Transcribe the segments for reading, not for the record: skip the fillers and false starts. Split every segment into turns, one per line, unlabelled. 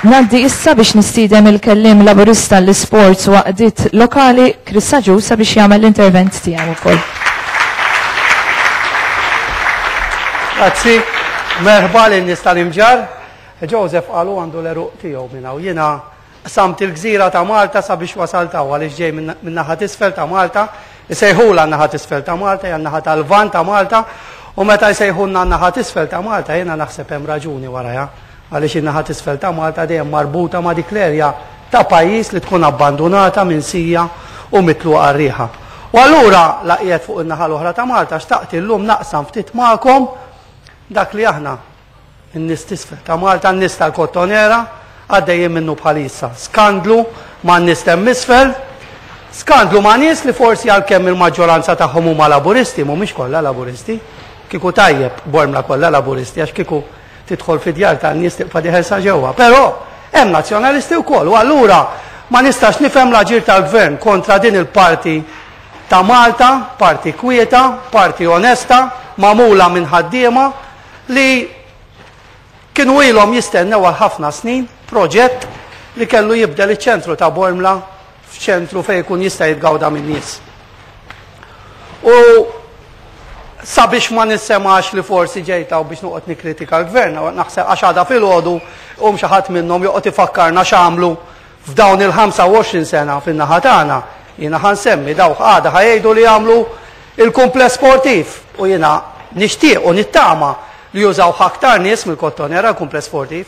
Ngħaddi issa biex nistieden il-kelliem Laburista għall-Isports u Għaqdiet Lokali Chris Agius sabiex jagħmel l-intervent tiegħu wkoll.
Grazzi, merħba lin-nies tal-Imġarr. Joseph qalu għandu l-għeruq tiegħu minn hawn. Jiena Qsamt il-gżira ta' Malta sabiex wasalt hawn għaliex ġej min-naħa t'isfel ta' Malta, isejħulha n-naħa t'isfel ta' Malta, hija n-naħa tal-Lvant ta' Malta, u meta jsejħulna n-naħa t'isfel ta' Malta jiena naħseb hemm raġuni warajha, għaliex in-naħa t'isfel ta' Malta dejjem marbuta ma' dik l-erja ta' pajjiż li tkun abbandunata, minsija u mitluqa għar-riħa. U allura la qiegħed fuq in-naħa l-oħra ta' Malta xtaqt illum naqsam ftit magħkom dak li aħna In-nies t'isfel ta' Malta, n-nies tal-Kottonera, għaddejjin minnu bħalissa. Skandlu man-nies t'hemm isfel, skandlu ma' nies li forsi għalkemm il-maġġoranza tagħhom huma Laburisti, mhumiex kollha Laburisti. Kieku tajjeb Bormla kollha Laburisti għax kieku tidħol fid-djar tan-nies tibqa' dieħel sa ġewwa. Però hemm Nazzjonalisti wkoll u allura ma nistax nifhem l-aġir tal-Gvern kontra din il-parti ta' Malta, parti kwieta, parti onesta, magħmula minn ħaddiema, li kienu ilhom jistennew għal ħafna snin proġett li kellu jibdel iċ-ċentru ta' Bormla f'ċentru fejn ikun jista' jitgawda min-nies. U sabiex ma nissemax li forsi ġejt hawn biex noqgħod nikkritika l-gvern, naħseb għax għada filgħodu um xi ħadd minnhom joqgħod ifakkarna x'għamlu F'dawn il-25 sena fin-naħa tagħna, jiena ħa nsemmi dawk għada ħa jgħidu li għamlu il-kumpless sportiv u jiena nixtieq u nittama li jużawh aktar nies mill-Kottonera l-kumpless sportiv.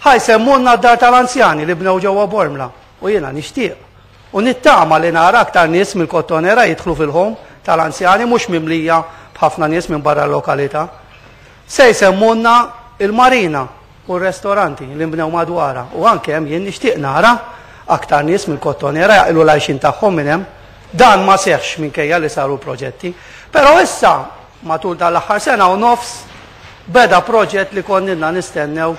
Ħa jsemmulna d-dar tal-anzjani li bnew ġewwa Bormla u jiena nixtieq u nittama li nara aktar nies mill-Kottonera jidħlu fil-home tal-anzjani mhux mimlija b'ħafna nies minn barra l-lokalità. Se jsemmulna il-marina u r-restoranti li nbnew madwarha u anke hemm jien nixtieq nara aktar nies mill-Kottonera jaqilgħu l-għajxien tagħhom minn hemm. Dan ma seħħx minkejja li saru proġetti. Però issa, matul dan l-aħħar sena u nofs, beda proġett li konna ilna nistennew,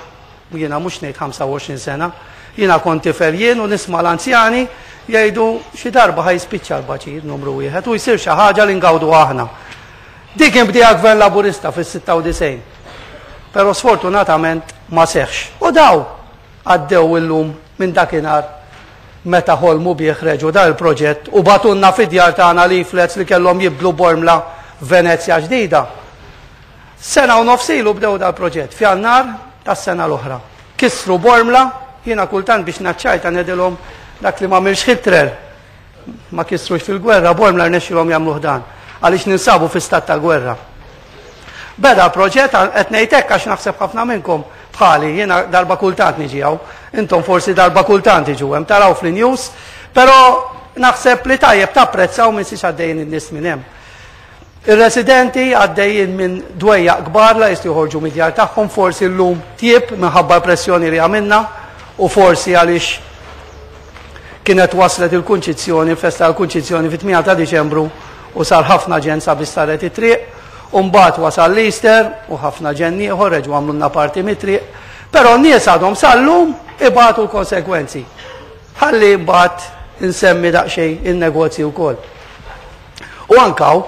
jiena mhux ngħid 25 sena, jiena kont tifel jien u nisma' l-anzjani jgħidu xi darba ħa jispiċċa l-baċir numru wieħed u jsir xi ħaġa li ngawduha aħna. Dik kien bdieha Gvern Laburista fis-96. Però sfortunatament ma seħħx. U daw għaddew illum minn dakinhar meta ħolmu bih reġgħu dan il-proġett u bagħtulna fid-djar tagħna leaflets li kellhom jibdlu Bormla f'Venezja ġdida. Sena u nofs ilu bdew dal-proġett f'Jannar tas-sena l-oħra. Kissru Bormla, jiena kultant biex naċċajta ngħidilhom dak li m'għamilx Hitler Ma kissrux fil-gwerra, Bormla rnexxilhom jagħmluh dan, għaliex ninsabu fi stat ta' gwerra. Beda l-proġett, qed ngħid hekk għax naħseb ħafna minnkom bħali, jiena darba kultant niġi hawn, intom forsi darba kultant tiġu hemm taraw fl-news, però naħseb li tajjeb tapprezzaw minn siex għaddejjin in-nies minn hemm. Ir-residenti għaddejjin minn dwejjaq kbar la jistgħu joħorġu mid-djar tagħhom, forsi llum tjieb minħabba l-pressjoni li għamilna u forsi għaliex kienet waslet il-Kunċizzjoni, il-festa tal-Kunċizzjoni fit-8 ta' Diċembru u sar ħafna ġenn sabiex saret it-triq, u mbagħad wasal l-Easter u ħafna ġenn ieħor reġgħu għamlulna parti mit-triq, però n-nies għadhom sal-lum ibatu l-konsegwenzi. Ħalli mbagħad insemmi daqsxejn in-negozji wkoll. U anke hawn,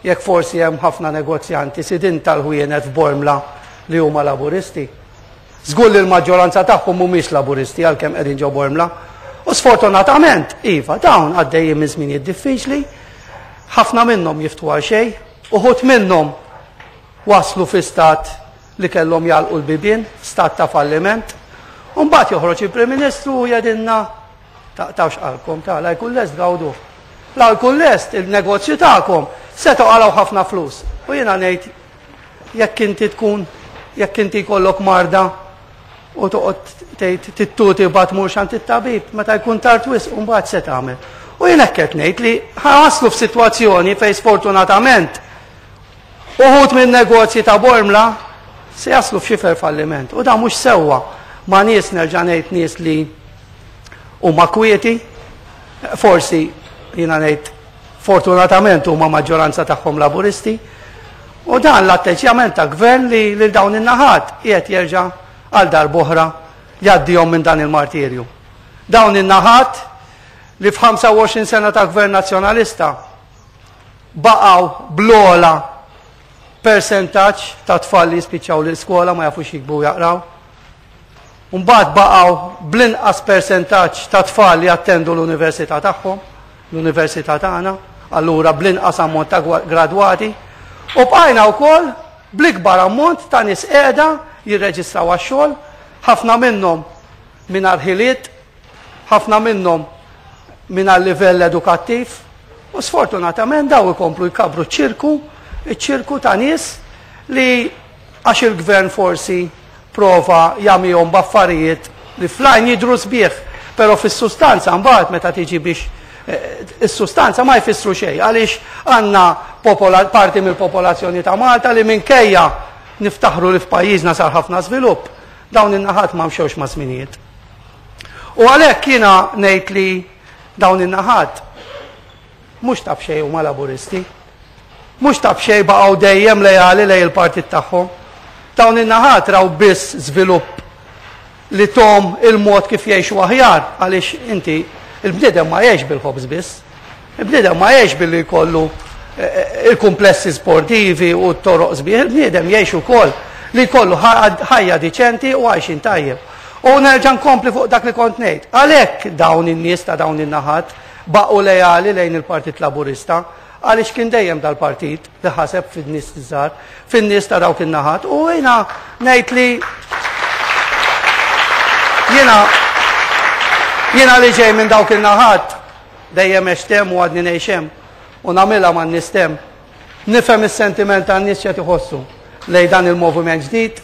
jekk forsi hemm ħafna negozjanti sidien tal-ħwienet f'Bormla li huma Laburisti, żgur li l-maġġoranza tagħhom mhumiex Laburisti għalkemm qegħdin ġo Bormla. U sfortunatament, iva, dawn għaddejjin minn żminijiet diffiċli, ħafna minnhom jiftħu għal xejn, uħud minnhom waslu fi stat li kellhom jagħlqu l-bibien, stat ta' falliment. U mbagħad joħroġ il-Prim Ministru u jgħidilna Taqtgħux qalbkom, ta' la jkun lest gawduh. La jkun lest il-negozju tagħkom se toqalgħu ħafna flus. U jiena ngħid jekk inti tkun jekk inti jkollok marda u toqgħod tgħid tittuti bad tmurx għand it-tabib meta jkun tard wisq u mbagħad se tagħmel. U jien hekk qed ngħid li ħaslu f'sitwazzjoni fejn sfortunatament uħud minn negozji ta' Bormla se jaslu f'xifer falliment. U dan mhux sewwa ma' nies nerġa' ngħid nies li Huma kwieti, forsi jiena ngħid fortunatament huma maġġoranza tagħhom Laburisti, u dan l-atteġġjament ta' gvern li lil dawn in-naħat qiegħed jerġa' għal darb'oħra jgħaddihom minn dan il-martirju. Dawn in-naħat li f'25 sena ta' gvern Nazzjonalista baqgħu bl-ogħla persentaġġ ta' tfal li jispiċċaw l-iskola ma jafux jiktbu u jaqraw. Mbagħad baqgħu bl-inqas persentaġġ ta' tfal li jattendu l-università tagħhom, l-università tagħna, allura bl-inqas ammont ta' gradwati. U bqajna wkoll bl-ikbar ammont ta' nies qiegħda jirreġistraw għax-xogħol, ħafna minnhom mingħajr ħiliet, ħafna minnhom mingħajr livell edukattiv, u sfortunatament daw ikomplu jkabbru ċ-ċirku, iċ-ċirku ta' nies li għax il-gvern forsi prova jagħmihom b'affarijiet li fl-għajn jidhru sbieħ, però fis-sustanza mbagħad meta tiġi biex is-sustanza ma jfissru xejn għaliex għandna parti mill-popolazzjoni ta' Malta li minkejja niftaħru li f'pajjiżna sar ħafna żvilupp, dawn in-naħat ma mxewx ma' żminijiet. U għalhekk jiena ngħid li dawn in-naħat mhux ta' b'xejn huma Laburisti. Mhux ta' b'xejn baqgħu dejjem leali lejn il-partit tagħhom. Dawn in-naħat raw biss żvilupp li thom il-mod kif jgħixu aħjar għaliex inti il-bniedem ma jgħix bil-ħobż biss. Il-bniedem ma jgħix billi jkollu il-kumplessi sportivi u t-toroq sbieħ, il-bniedem jgħix ukoll li jkollu ħajja diċenti u għajxin tajjeb. U nerġa' nkompli fuq dak li kont ngħid. Għalhekk dawn in-nies ta' dawn in-naħat baqgħu leali lejn il-Partit Laburista għaliex kien dejjem dal-partit li ħaseb fin-nies żgħar, fin-nies ta' dawk in-naħat. U jiena ngħid li jiena jiena li ġej minn dawk in-naħat dejjem għext hemm u għadni ngħix hemm u nagħmilha man-nies t'hemm. Nifhem is-sentiment tan-nies x'qed iħossu lejn dan il-moviment ġdid.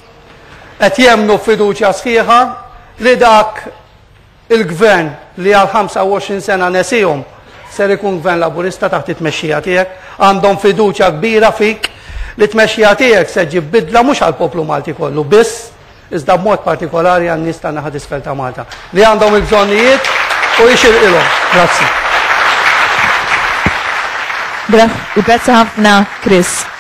Qed jemmnu f'fiduċja sħiħa li dak Il-Gvern li għal 25 sena nesihom ser ikun Gvern Laburista taħt it-tmexxija tiegħek. Għandhom fiduċja kbira fik li t-tmexxija tiegħek se ġġib bidla mhux għall-poplu Malti kollu biss, iżda b'mod partikolari għan-nies tan-naħa t'isfel ta' Malta li għandhom il-bżonnijiet u jixirqilhom. Grazzi.
Grazzi ħafna, Chris.